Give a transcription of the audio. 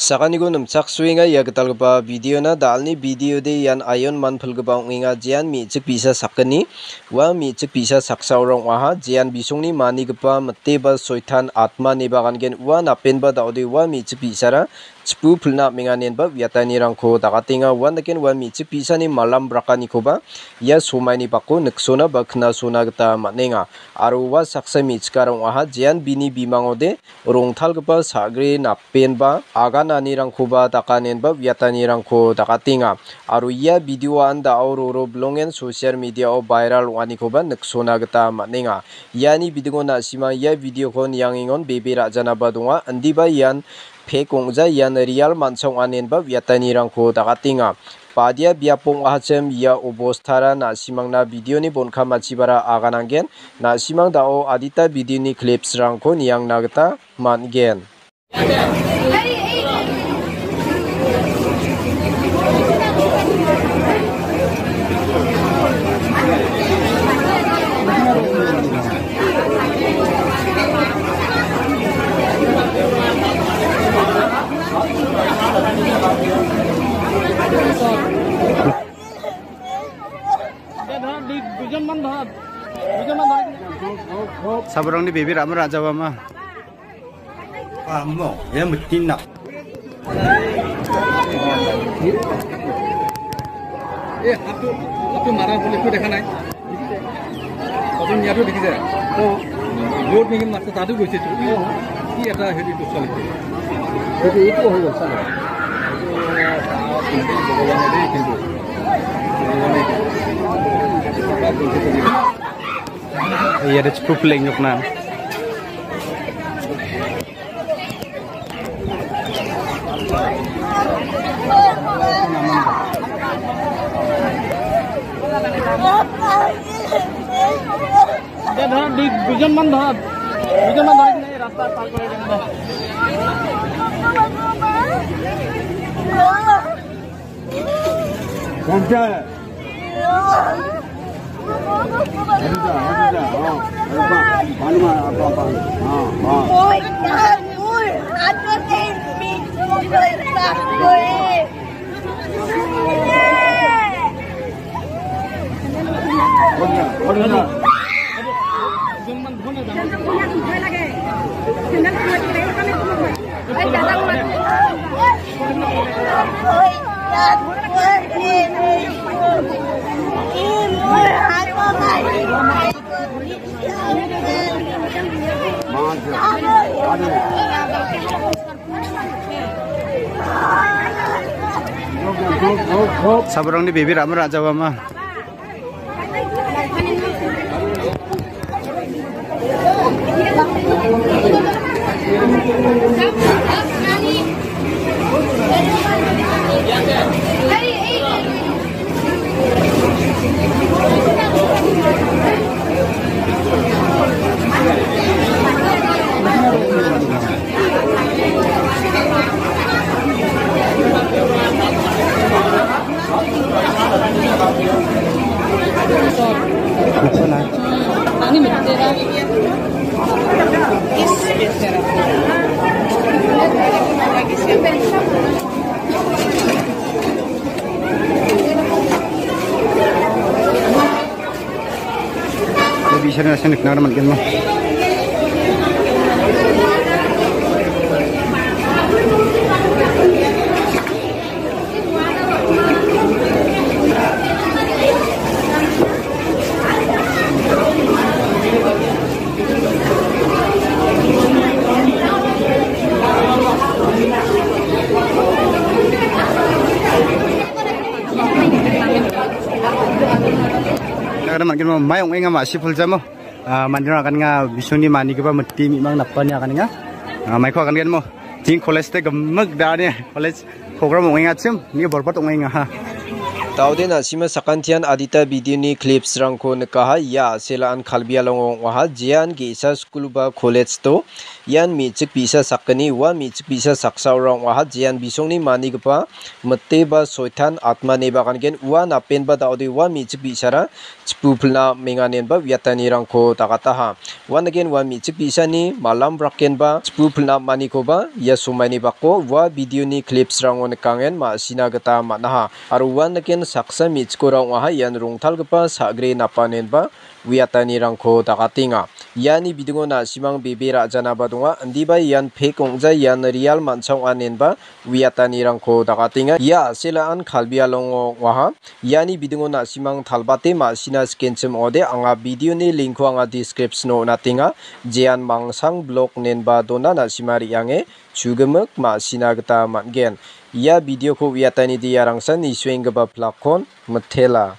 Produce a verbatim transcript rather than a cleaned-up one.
Sakaniko nimchaksoenga ia gitalgipa videona. Dalni videode ian aion manpilgipa ong·enga, jean me·chik bi·sa sakgni. Ua me·chik bi·sa saksa ong·aha, jean bisongni manigipa mite ba soitan atma ineba gan·gen. Ua napenba da·ode ua me·chik bi·sara chipu pilna am·enga inenba uiatanirangko dakatenga. Uandaken ua me·chik bi·sani malam brakanikoba ia somaini bako niksona ba knasona gita man·enga. Aro ua saksa me·chikara ong·aha, jean bini bimangode rongtalgipa sagre napenba agananirangkoba dakanenba uiatanirangko dakatenga. Aro ia videoan da·o roro bilongen social mediao viral ong·anikoba niksona gita man·enga. Iani bidingo na·simang ia videoko niangengon bebe ra·janaba donga, indiba ian pek ong·ja, ian real man·sa ong·anenba uiatanirangko dakatenga. Badia biapo ong·ahachim ia obostara na·simangna videoni bon·kamachibara agananggen. Na·simang da·o adita videoni clipsrangko niangna gita man·gen. Sabrangni bebe ra·mara ra·jabama. Amo, ia mitin nak. এই হাতটো, হাতটো মাৰা বুলি একো দেখা নাই। প্ৰথম ইয়াতো দেখিছে। য'ত নেকি মাৰিছে, তাতো গৈছে তো। কি এটা হেৰি দুখ পালে। এইটো, এইটো হৈ গ'ল, চালে। ভগৱানে দেই, কিন্তু ভগৱানে Iya, ada cukup lengkok, nah. এতিয়া ধৰ দুই, দুজনমান ধৰ, দুজনমান ধৰি কিনে এই ৰাস্তা পাৰ কৰাই দিম দে। Sabrangni bebe ra·mara ra·jabama. Ia bi·sarangna seng nikna gita man·genma. Nagara mangkin mo, mai ong·enga ma·si puljamo. Ah, mandirang aganenga bisongni manigipa mite mi·mang napani aganenga. Ah, maiko agangenmo. Jing college te gimik da·ani college program ong·engachim, ni borbat ong·enga ha. Daode na·sima sakantian adita video-ni clips-rangko nikaha. Ia a·selaan Karbi Alongo ong·aha. Jean ge·sa skul ba college-o ian me·chik bi·sa sakgni. Ua me·chik bi·sa saksaora ong·aha. Jean bisongni manigipa mite ba soitan atma ineba gan·gen. Ua napenba daode ua me·chik bi·sara chipu pilna am·enga inenba uiatanirangko dagataha. Uan nigen ua me·chik bi·sani malam brakenba chipu pilna am·anikoba ia somaini bako ua video-ni clips-rango nikangen ma·sina gita man·aha. Aro uan nigen saksa me·chikora ong·aha, ian rongtalgipa sagre napanenba uiatanirangko dagatenga. Iani bidingo na·simang bebe ra·janaba donga, indiba ian pek ong·ja, ian real man·cha ong·a inenba uiatanirangko dagatenga. Ia a·selaan Karbi Alongo ong·aha. Iani bidingo na·simang talbate ma·sina sikenchim ong·ode, anga video-ni link-ko anga description-o on·atenga. Jean Mangsang blog inenba dona, na·sima re·ange chugimik ma·sina gita man·gen. Ia video-ko uiatani dia rangsan nisuenggipa plakkon mitela.